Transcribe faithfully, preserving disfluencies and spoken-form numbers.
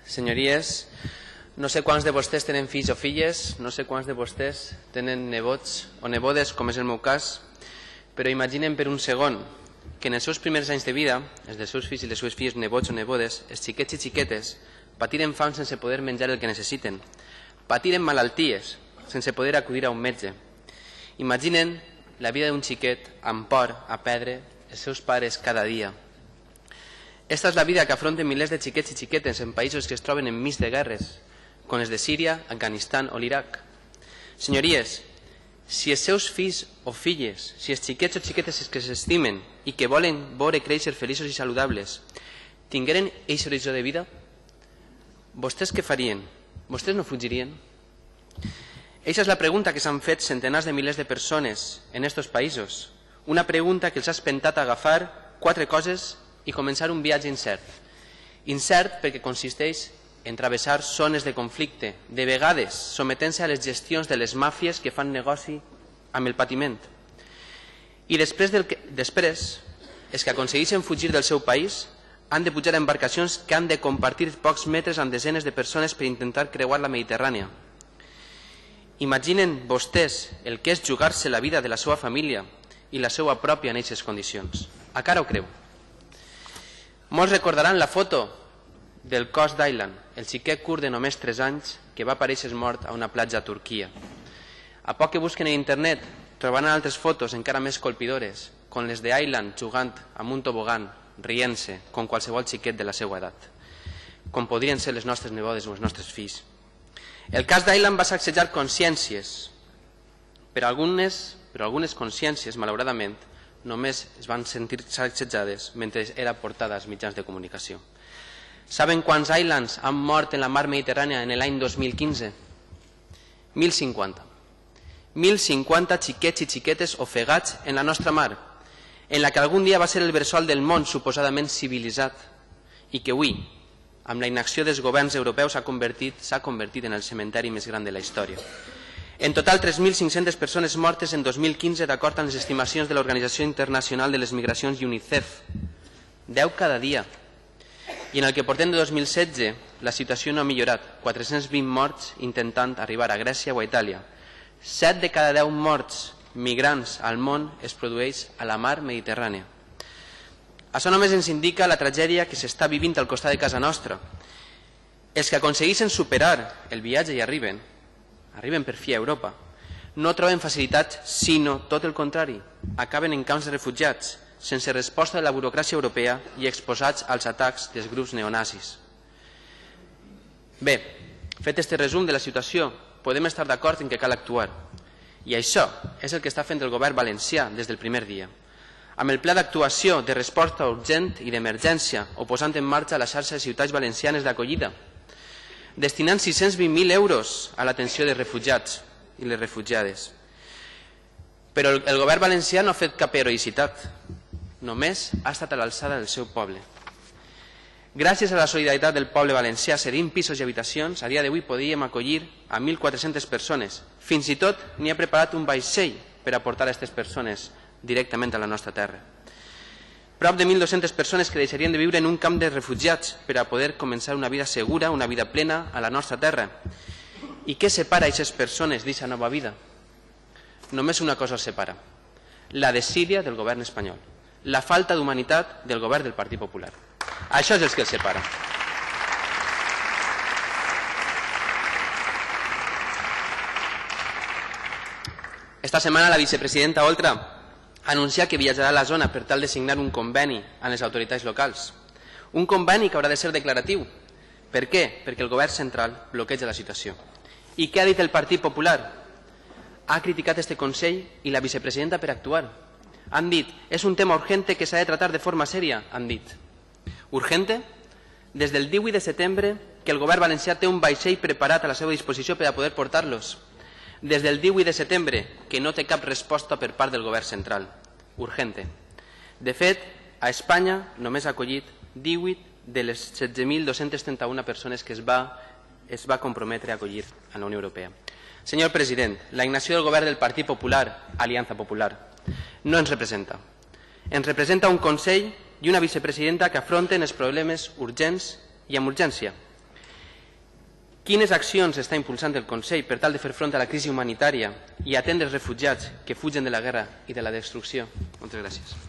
senyories, no sé quants de vostès tenen fills o filles, no sé quants de vostès tenen nebots o nebodes, com és el meu cas, però imaginen per un segon que en els seus primers anys de vida, els dels seus fills i les seves filles, nebots o nebodes, els xiquets i xiquetes, patiren fam sense poder menjar el que necessiten, patiren malalties sense poder acudir a un metge. Imaginen la vida d'un xiquet amb por a perdre els seus pares cada dia. Esta és la vida que afronten milers de xiquets i xiquetes en països que es troben enmig de guerres, com els de Síria, Afganistan o l'Iraq. Senyories, si els seus fills o filles, si els xiquets o xiquetes que s'estimen i que volen veure créixer feliços i saludables, tingueren aquest horitzó de vida, vostès què farien? Vostès no fugirien? Eixa és la pregunta que s'han fet centenars de milers de persones en aquests països. Una pregunta que els ha espentat a agafar quatre coses i començar un viatge incert. Incert perquè consisteix en travessar zones de conflicte, de vegades sometent-se a les gestions de les màfies que fan negoci amb el patiment. I després, del que, després els que aconsegueixen fugir del seu país han de pujar a embarcacions que han de compartir pocs metres amb desenes de persones per intentar creuar la Mediterrània. Imaginen vostès el que és jugar-se la vida de la seva família i la seva pròpia en aquestes condicions. A cara ho creu. Molts recordaran la foto del cos d'Aylan, el xiquet curt de només tres anys que va aparèixer mort a una platja a Turquia. A poc que busquen en internet trobaran altres fotos encara més colpidores, com les d'Aylan jugant amb un tobogan, rient-se, com qualsevol xiquet de la seva edat, com podrien ser les nostres nebodes o els nostres fills. El cas d'Aylan va sacsejar consciències, però algunes, però algunes consciències, malauradament, només es van sentir sacsejades mentre era portada als mitjans de comunicació. Saben quants Aylans han mort en la mar Mediterrània en l'any dos mil quinze? mil cinquanta. mil cinquanta xiquets i xiquetes ofegats en la nostra mar, en la que algun dia va ser el bressol del món suposadament civilitzat i que avui, amb la inacció dels governs europeus, s'ha convertit, s'ha convertit en el cementeri més gran de la història. En total, tres mil cinc-centes persones mortes en dos mil quinze, d'acord amb les estimacions de l'Organització Internacional de les Migracions i UNICEF. deu cada dia. I en el que portem de dos mil setze, la situació no ha millorat. quatre-cents vint morts intentant arribar a Grècia o a Itàlia. set de cada deu morts migrants al món es produeix a la mar Mediterrània. Això només ens indica la tragèdia que s'està vivint al costat de casa nostra. Els que aconsegueixen superar el viatge i arriben, arriben per fi a Europa, no troben facilitats, sinó tot el contrari. Acaben en camps de refugiats, sense resposta de la burocràcia europea i exposats als atacs dels grups neonazis. Bé, fet este resum de la situació, podem estar d'acord en que cal actuar. I això és el que està fent el govern valencià des del primer dia, amb el pla d'actuació de resposta urgent i d'emergència o posant en marxa la xarxa de ciutats valencianes d'acollida, destinant sis-cents vint mil euros a l'atenció de refugiats i les refugiades. Però el govern valencià no ha fet cap heroïcitat, només ha estat a l'alçada del seu poble. Gràcies a la solidaritat del poble valencià cedint pisos i habitacions, a dia d'avui podíem acollir a mil quatre-centes persones. Fins i tot n'hi ha preparat un vaixell per aportar a aquestes persones directament a la nostra terra. Prop de mil dues-centes persones que deixarien de viure en un camp de refugiats per a poder començar una vida segura, una vida plena a la nostra terra. I què separa aquestes persones d'aquesta nova vida? Només una cosa els separa: la desídia del govern espanyol, la falta d'humanitat del govern del Partit Popular. Això és el que els separa. Esta setmana la vicepresidenta Oltra ha anunciat que viatjarà a la zona per tal de signar un conveni amb les autoritats locals. Un conveni que haurà de ser declaratiu. Per què? Perquè el govern central bloqueja la situació. I què ha dit el Partit Popular? Ha criticat este Consell i la vicepresidenta per actuar. Han dit, és un tema urgente que s'ha de tratar de forma sèria, han dit. Urgente? Des del divuit de setembre que el govern valencià té un vaixell preparat a la seva disposició per a poder portar-los. Des del divuit de setembre que no té cap resposta per part del govern central. Urgente. De fet, a Espanya només ha acollit divuit de les setze mil dos-centes trenta-una persones que es va, es va comprometre a acollir a la Unió Europea. Senyor president, la inacció del govern del Partit Popular, Aliança Popular, no ens representa. Ens representa un Consell i una vicepresidenta que afronten els problemes urgents i amb urgència. Quines accions està impulsant el Consell per tal de fer front a la crisi humanitària i atendre els refugiats que fugen de la guerra i de la destrucció? Moltes gràcies.